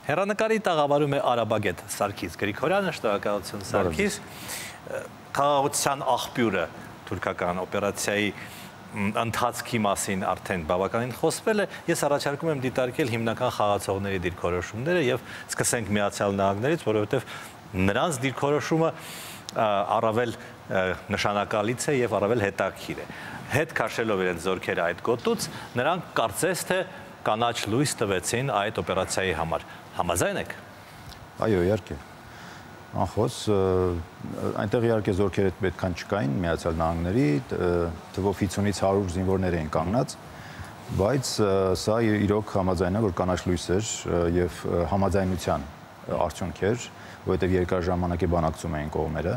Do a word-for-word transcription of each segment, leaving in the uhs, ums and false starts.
Հեռանկարի տաղավարում է Արաբագետ Սարգիս Գրիգորյանը, շնորհակալություն Սարգիս, խաղաղության աղբյուրը թուրքական օպերացիայի ընթացքի մասին արդեն բավականին խոսվել է, ես առաջարկում եմ դիտարկել հիմնական խաղացողների դիրքորոշումները եւ սկսենք Միացյալ Նահանգներից, որովհետեւ նրանց դիրքորոշումը առավել նշանակալից է եւ առավել հետաքրքիր է։ Հետ քաշելով իրենց զորքերը այդ գոտուց, նրանք կարծես թե կանաչ լույս տվեցին այդ օպերացիայի համար։ Համաձայն եք։ Այո, իհարկե։ Անխոս, այնտեղ իհարկե զորքերը պետքան չկային Միացյալ Նահանգների, թվով հինգից հարյուր զինվորներ էին կանգնած, բայց սա իրոք համաձայն է, որ կանաչ լույս էր եւ համաձայնության արդյունք էր, որովհետեւ երկար ժամանակ է բանակցում էին կողմերը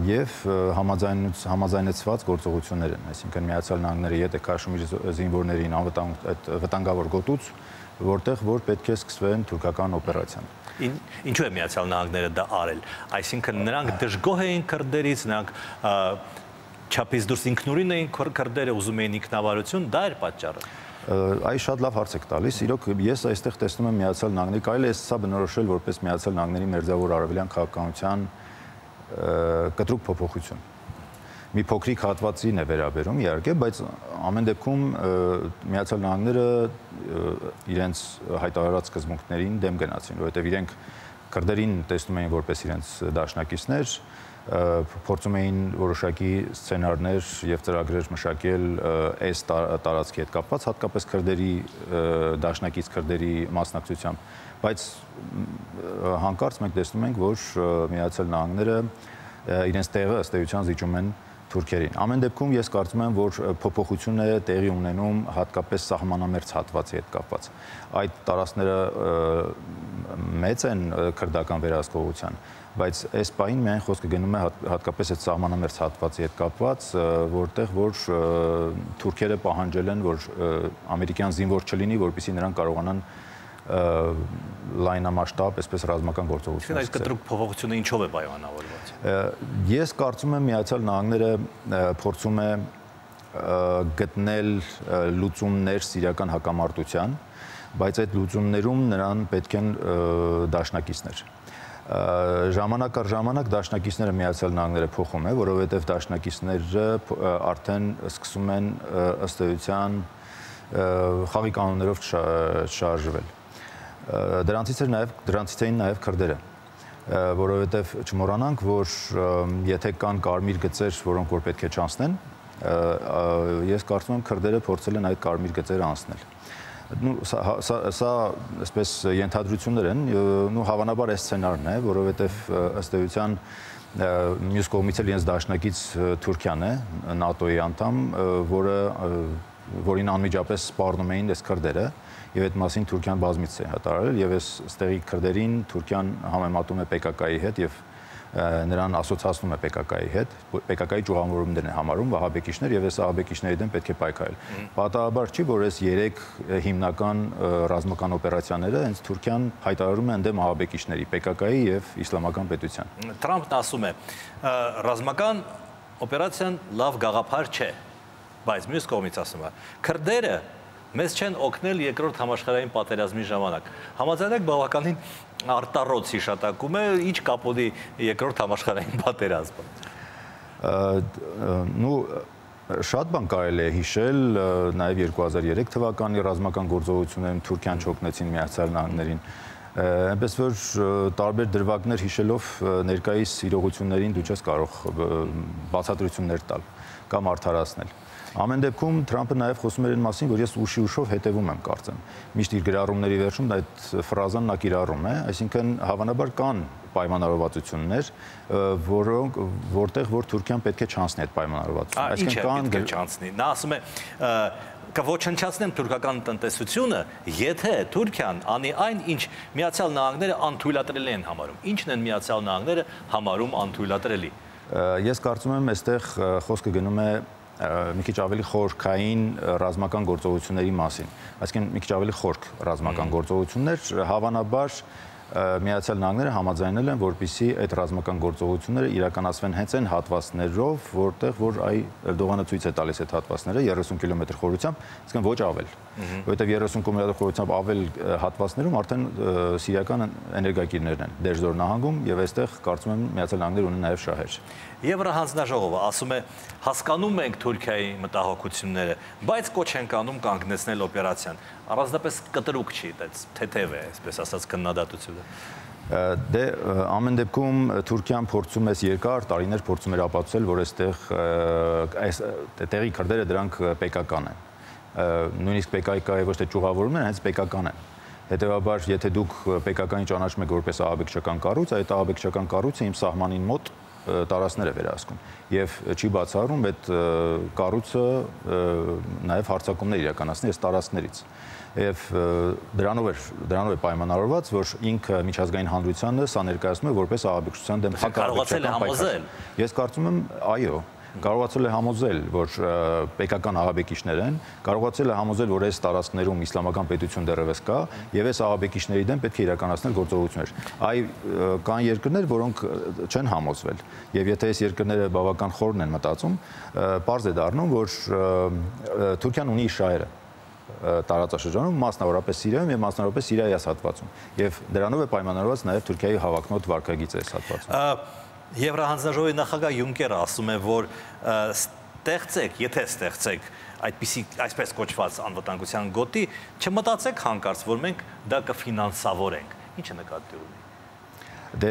եւ համաձայնեցված գործողություններ են, այսինքն Միացյալ Նահանգները եթե քաշում իր զինվորներին անվտանգ վտանգավոր գոտուց, որտեղ որ պետք է սկսվեն թուրքական օպերացիան։ Ինչու է Միացյալ Նահանգները դա արել, այսինքն նրանք դժգոհ էին քրդերից, նրանք չափից դուրս ինքնուրույն էին քրդերը, ուզում էին ինքնավարություն, դա էր պատճառը։ Այ շատ լավ հարց եք տալիս, իրոք ես այստեղ տեսնում եմ Միացյալ Նահանգների, կարելի է սա բնորոշել որպես Միացյալ Նահանգների մերձավոր արևելյան քաղաքականության կտրուկ փոփոխություն։ Մի փոքրիկ հատվածին է վերաբերում, իհարկե, բայց ամեն դեպքում Միացյալ Նահանգները իրենց հայտարարած սկզբունքներին դեմ գնացին, որովհետև իրենք քրդերին տեսնում էին որպես իրենց դաշնակիցներ, փորձում էին որոշակի սցենարներ եւ ծրագրեր մշակել այս տարածքի հետ կապված, հատկապես քրդերի դաշնակից քրդերի մասնակցությամբ, բայց հանկարծ մենք տեսնում ենք, որ Միացյալ Նահանգները իրենց տեղը ըստ էության զիջում են թուրքերին։ Ամեն դեպքում ես կարծում եմ, որ փոփոխություն է տեղի ունենում հատկապես սահմանամերձ հատվածի հետ կապված։ Այդ տարածքները մեծ են քրդական վերահսկողության, բայց այս պահին միայն խոսքը գնում է հատկապես այդ սահմանամերձ հատվածի հետ կապված, որտեղ որ թուրքերը պահանջել են, որ ամերիկյան զինվոր չլինի, որպեսզի նրանք կարողանան լայնամասշտաբ, այսպես ռազմական գործողություն։ Այդ կտրուկ փոփոխությունը ինչով է պայմանավորված։ Ես կարծում եմ Միացյալ Նահանգները փորձում է գտնել լուծումներ սիրիական հակամարտության, բայց այդ լուծումներում նրան պետք են դաշնակիցներ։ Ժամանակ առ ժամանակ դաշնակիցները Միացյալ Նահանգները փոխում է, որովհետև դաշնակիցները արդեն սկսում են ըստ էության խաղի կանոններով չշարժվել։ Դրանցից էր նաև դրանցից էին նաև քրդերը, որովհետև չմոռանանք, որ եթե կան կարմիր գծեր, որոնք որ պետք է չանցնեն, ես կարծում եմ քրդերը փորձել են այդ կարմիր գծերը անցնել։ Նու սա այսպես ենթադրություններ են, նու հավանաբար այս սցենարն է, որովհետև ըստ էության մյուս կողմից էլ իրենց դաշնակից Թուրքիան է, ՆԱՏՕ-ի անդամ, որը որին անմիջապես սպառնում էին այս քրդերը, եւ այդ մասին Թուրքիան բազմիցս է հայտարարել, եւ այս ստեղի քրդերին Թուրքիան համեմատում է պեկակայի հետ եւ նրան ասոցացնում է պեկակայի հետ, պեկակայի ճյուղավորումներն է համարում վահաբեկիչներ եւ այս վահաբեկիչների դեմ պետք է պայքարել։ Պատահաբար չի, որ այս երեք հիմնական ռազմական օպերացիաները հենց Թուրքիան հայտարարում է ընդդեմ վահաբեկիչների, պեկակայի եւ իսլամական պետության։ Թրամփն ասում է, ռազմական օպերացիան լավ գաղափար չէ, բայց մյուս կողմից ասում է, քրդերը մեզ չեն օգնել երկրորդ համաշխարհային պատերազմի ժամանակ։ Համաձայն եք բավականին արտառոց հիշատակում է, ինչ կապ ունի երկրորդ համաշխարհային պատերազմը։ Նու շատ բան կարելի է հիշել, նաև երկու հազար երեք թվականի ռազմական գործողություններում Թուրքիան չօգնեցին Միացյալ Նահանգներին։ Այնպես որ տարբեր դրվագներ հիշելով ներկայիս իրողություններին դու չես կարող բացատրություններ տալ կամ արդարացնել։ Ամեն դեպքում Թրամփը նաև խոսում էր այն մասին, որ ես ուշի ուշով հետևում եմ կարծեմ։ Միշտ իր գրառումների վերջում այդ ֆրազան նա կիրառում է, այսինքն հավանաբար կան պայմանավորվածություններ, որոնք որտեղ որ Թուրքիան պետք է չանցնի այդ պայմանավորվածությունը։ Այսինքն կան պետք է չանցնի։ Նա ասում է կոչնչացնեմ թուրքական տնտեսությունը, եթե Թուրքիան անի այն, ինչ Միացյալ Նահանգները անթույլատրելի են համարում։ Ինչն են Միացյալ Նահանգները համարում անթույլատրելի։ Ես կարծում եմ, այստեղ խոսքը գնում է մի քիչ ավելի խորքային ռազմական գործողությունների մասին, այսինքն մի քիչ ավելի խորք ռազմական գործողություններ, հավանաբար Միացյալ Նահանգները համաձայնել են, որպեսզի այդ ռազմական գործողությունները իրականացվեն հենց այն հատվածներով, որտեղ որ այ Էրդողանը ցույց է տալիս այդ հատվածները երեսուն կիլոմետր խորությամբ, այսինքն ոչ ավել, որովհետև երեսուն կիլոմետր խորությամբ ավել հատվածներում արդեն սիրիական էներգակիրներն են Դերժոր նահանգում եւ այստեղ կարծում եմ Միացյալ Նահանգները ունեն նաեւ շահեր։ Եվրահանձնաժողովը ասում է հասկանում ենք Թուրքիայի մտահոգությունները, բայց կոչ ենք անում կանգնեցնել օպերացիան։ Առանձնապես կտրուկ չի, թեթև է, այսպես ասած, քննադատությունը։ Դե ամեն դեպքում Թուրքիան փորձում է երկար տարիներ փորձում էր ապացուցել, որ այստեղ այս տեղի քրդերը դրանք պեկական են։ Նույնիսկ պեկայկայի ոչ թե ճյուղավորումն են, հենց պեկական են։ Հետևաբար, եթե դուք պեկականի ճանաչում եք որպես ահաբեկչական կառույց, այդ ահաբեկչական կառույցը իմ սահմանին մոտ տարածքներ է վերահսկում եւ չի բացառում այդ կառույցը նաեւ հարձակումներ իրականացնի այս տարածքներից եւ դրանով է դրանով է պայմանավորված, որ ինքը միջազգային հանրությանը սա ներկայացնում է որպես ահաբեկչության դեմ հակառակական պայքար։ Ես կարծում եմ, այո, կարողացել է համոզել, որ պեկական ահաբեկիչներ են, կարողացել է համոզել, որ այս տարածքներում իսլամական պետություն դեռևս կա եւ այս ահաբեկիչների դեմ պետք է իրականացնել գործողություններ։ Այ կան երկրներ, որոնք չեն համոզվել եւ եթե այս երկրները բավական խորն են մտածում, պարզ է դառնում, որ Թուրքիան ունի շահերը տարածաշրջանում, մասնավորապես Սիրիայում եւ մասնավորապես Սիրիայի հատվածում եւ դրանով է պայմանավորված նաեւ Թուրքիայի հավակնոտ վարկագիծը այս հատվածում։ Եվրահանձնաժողովի նախագահ Յունկերը ասում է, որ ստեղծեք, եթե ստեղծեք այդպիսի այսպես կոչված անվտանգության գոտի, չմտածեք հանկարծ, որ մենք դա կֆինանսավորենք։ Ինչ է նկատի ունի։ Դե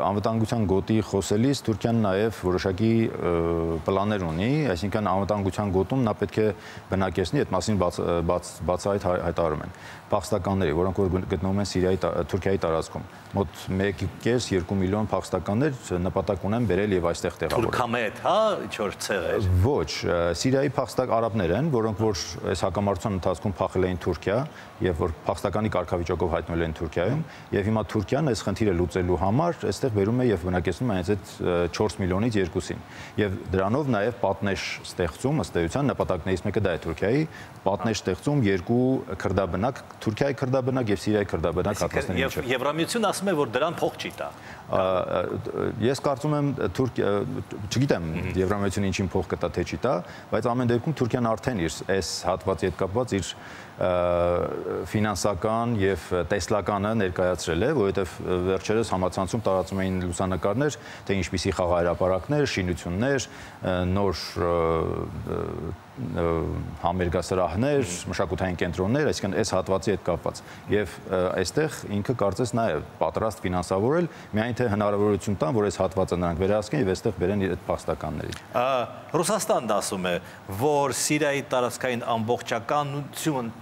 անվտանգության գոտի խոսելիս Թուրքիան նաև որոշակի պլաններ ունի, այսինքն անվտանգության գոտում նա պետք է բնակեցնի, այդ մասին բացահայտ հայտարարում են փախստականների, որոնք որ գտնվում են Սիրիայի Թուրքիայի տարածքում։ Մոտ մեկ կես երկու միլիոն փախստականներ նպատակ ունեն բերել եւ այստեղ տեղավորել։ Թուրքամետ, հա, ինչ-որ ցեղեր։ Ոչ, Սիրիայի փախստակ արաբներ են, որոնք որ այս հակամարտության ընթացքում փախել էին Թուրքիա եւ որ փախստականի կարգավիճակով հայտնվել են Թուրքիայում եւ հիմա Թուրքիան այս խնդիրը լուծելու համար այստեղ բերում է եւ բնակեցնում է այդ չորս միլիոնից երկուսին։ Եւ դրանով նաեւ պատնեշ ստեղծում, ըստ էության նպատակներից մեկը դա է Թուրքիայի, պատնեշ ստեղծում երկու քրդաբնակ, Թուրքիայի քրդաբնակ եւ Սիրիայի քրդաբնակ հատվածների միջեւ։ Եվ Եվրամիությունը ասում է, որ դրան փող չի տա։ Ես կարծում եմ Թուրքիա, չգիտեմ Եվրամիությունը ինչին փող կտա թե չի տա, բայց ամեն դեպքում Թուրքիան արդեն իր այս հատվածի հետ կապված իր ֆինանսական եւ տեսլականը ներկայացրել է, որովհետեւ վերջերս համացանցում տարածում էին լուսանկարներ, թե ինչպիսի խաղահրապարակներ, շինություններ, նոր համերգասրահներ, մշակութային կենտրոններ, այսինքն այս հատվածի հետ կապված։ Եվ այստեղ ինքը կարծես նա է պատրաստ ֆինանսավորել, միայն թե հնարավորություն տան, որ այս հատվածը նրանք վերահսկեն եւ այստեղ բերեն այդ փախստականներին։ Ռուսաստանն ասում է, որ Սիրիայի տարածքային ամբողջականություն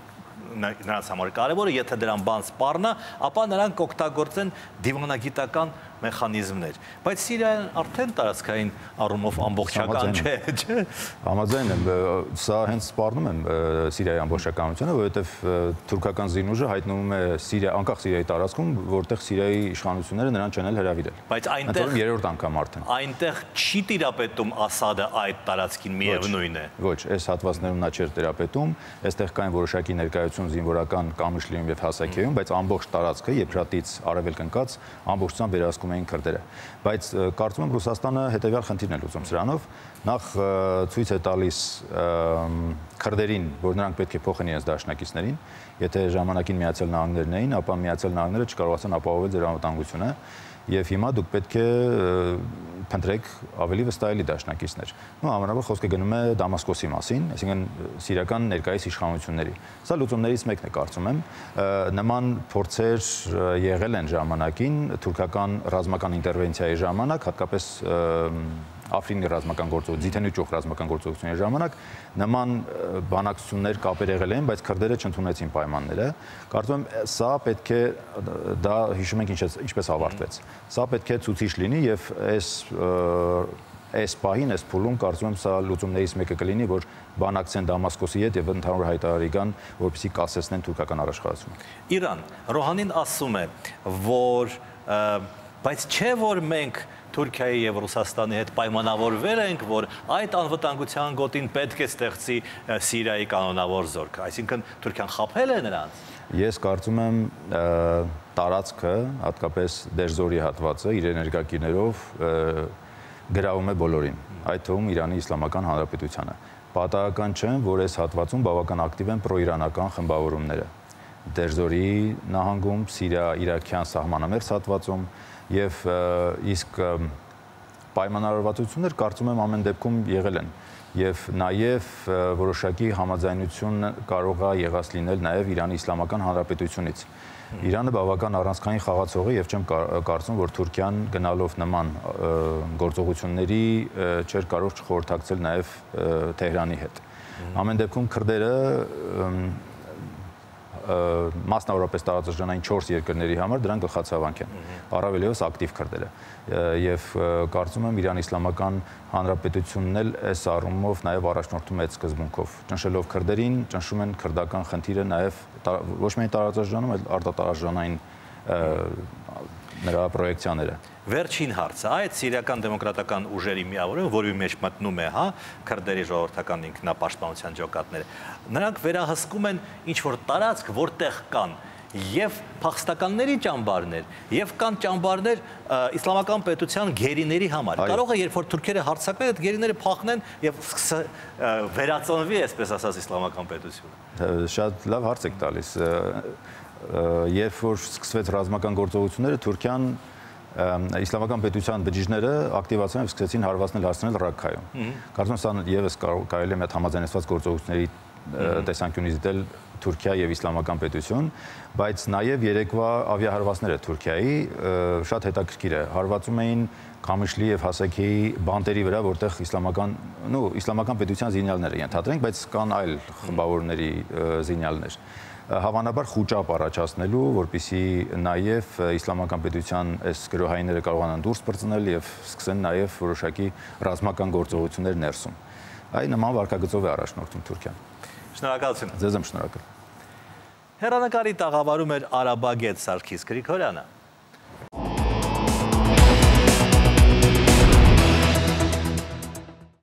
նրանց համար կարևոր է, եթե դրան բան սպառնա, ապա նրանք կօգտագործեն դիվանագիտական մեխանիզմներ։ Բայց Սիրիան արդեն տարածքային առումով ամբողջական չէ, չէ։ Համաձայն եմ, սա հենց սպառնում եմ Սիրիայի ամբողջականությունը, որովհետև թուրքական զինուժը հայտնվում է Սիրիա, անկախ Սիրիայի տարածքում, որտեղ Սիրիայի իշխանությունները նրան չեն հրավիրել։ Բայց այնտեղ երրորդ անգամ արդեն։ Այնտեղ չի տիրապետում Ասադը այդ տարածքին, միևնույն է։ Ոչ, այս հատվածներում նա չէր տիրապետում, այստեղ կային որոշակի ներկայություն զինվորական Կամիշլիում եւ Հասակեյում, բայց ամբողջ տարածքը Եփրատից արևելք ընկած ամբողջությամբ վերահսկում էին քրդերը։ Բայց կարծում եմ Ռուսաստանը հետեւյալ խնդիրն է լուծում սրանով, նախ ցույց է տալիս քրդերին, որ նրանք պետք է փոխեն իրենց դաշնակիցներին, եթե ժամանակին Միացյալ Նահանգներն էին, ապա Միացյալ Նահանգները չկարողացան ապահովել ձեր անվտանգությունը եւ հիմա դուք պետք է փնտրեք ավելի վստահելի դաշնակիցներ։ Ու համանավոր խոսքը գնում է Դամասկոսի մասին, այսինքն սիրիական ներկայիս իշխանությունների։ Սա լուծումներից մեկն է, կարծում եմ, նման փորձեր եղել են ժամանակին թուրքական ռազմական ինտերվենցիայի ժամանակ, հատկապես Աֆրինի ռազմական գործողություն, Ձիթենի ճյուղ ռազմական գործողությունների ժամանակ նման բանակցություններ կապեր եղել են, բայց քրդերը չընդունեցին պայմանները։ Կարծում եմ, սա պետք է դա հիշում ենք ինչպես ավարտվեց։ Սա պետք է ցուցիչ լինի եւ այս այս պահին, այս փուլում կարծում եմ սա լուծումներից մեկը կլինի, որ բանակցեն Դամասկոսի հետ եւ ընդհանուր հայտարարի կան, որպեսզի կասեցնեն թուրքական առաջխաղացումը։ Իրան, Ռոհանին ասում է, որ բայց չէ որ մենք Թուրքիայի եւ Ռուսաստանի հետ պայմանավորվել ենք, որ այդ անվտանգության գոտին պետք է ստեղծի Սիրիայի կանոնավոր զորք, այսինքն Թուրքիան խաբել է նրանց։ Ես կարծում եմ տարածքը, հատկապես Դերձորի հատվածը իր էներգակիրներով գրավում է բոլորին, այդ թվում Իրանի Իսլամական Հանրապետությանը։ Պատահական չէ, որ այս հատվածում բավական ակտիվ են պրոիրանական խմբավորումները։ Դերձորի նահանգում, Սիրիա-իրաքյան սահմանամերձ հատվածում եւ իսկ պայմանավորվածություններ կարծում եմ ամեն դեպքում եղել են եւ նաեւ որոշակի համաձայնություն կարող է եղած լինել նաեւ Իրանի Իսլամական Հանրապետությունից։ Իրանը բավական առանցքային խաղացող է եւ չեմ կարծում, որ Թուրքիան գնալով նման գործողությունների չէր կարող չխորհրդակցել նաեւ Թեհրանի հետ։ Ամեն դեպքում քրդերը մասնավորապես տարածաշրջանային չորս երկրների համար դրան գլխացավանք են, առավել ևս ակտիվ քրդերը։ Եվ կարծում եմ Իրանի Իսլամական Հանրապետությունն էլ այս առումով նաև առաջնորդում է այդ սկզբունքով։ Ճնշելով քրդերին, ճնշում են քրդական խնդիրը նաև ոչ միայն տարածաշրջանում, այլ արտատարածաշրջանային նրա պրոյեկցիաները։ Վերջին հարցը, այդ սիրիական դեմոկրատական ուժերի միավորը, որի մեջ մտնում է, հա, քրդերի ժողովրդական ինքնապաշտպանության ջոկատները, նրանք վերահսկում են ինչ-որ տարածք, որտեղ կան եւ փախստականների ճամբարներ, եւ կան ճամբարներ իսլամական պետության գերիների համար։ Կարող է, երբ որ թուրքերը հարձակվեն, այդ գերիները փախնեն եւ վերածնվի, այսպես ասած, իսլամական պետությունը։ Շատ լավ հարց եք տալիս։ Երբ որ սկսվեց ռազմական գործողությունները, Թուրքիան իսլամական պետության բջիջները ակտիվացան եւ սկսեցին հարվածնել հասցնել Ռաքքայում։ Կարծում եմ, սա եւս կարելի է մի հատ համաձայնեցված գործողությունների տեսանկյունից դիտել Թուրքիա եւ իսլամական պետություն, բայց նաեւ երեկվա ավիահարվածները Թուրքիայի շատ հետաքրքիր է, հարվածում էին Քամիշլի եւ Հասեքեի բանտերի վրա, որտեղ իսլամական, նո, իսլամական պետության զինյալներ են ենթադրենք, բայց կան այլ խմբավորների զինյալներ։ Հավանաբար խուճապ առաջացնելու, որպեսզի նաև իսլամական պետության այս գրոհայինները կարողանան դուրս պրծնել եւ սկսեն նաև որոշակի ռազմական գործողություններ ներսում։ Այն նման վարկագծով է առաջնորդում Թուրքիան։ Շնորհակալություն։ Ձեզ եմ շնորհակալ։ Հեռանկարի տաղավարում էր արաբագետ Սարգիս Գրիգորյանը։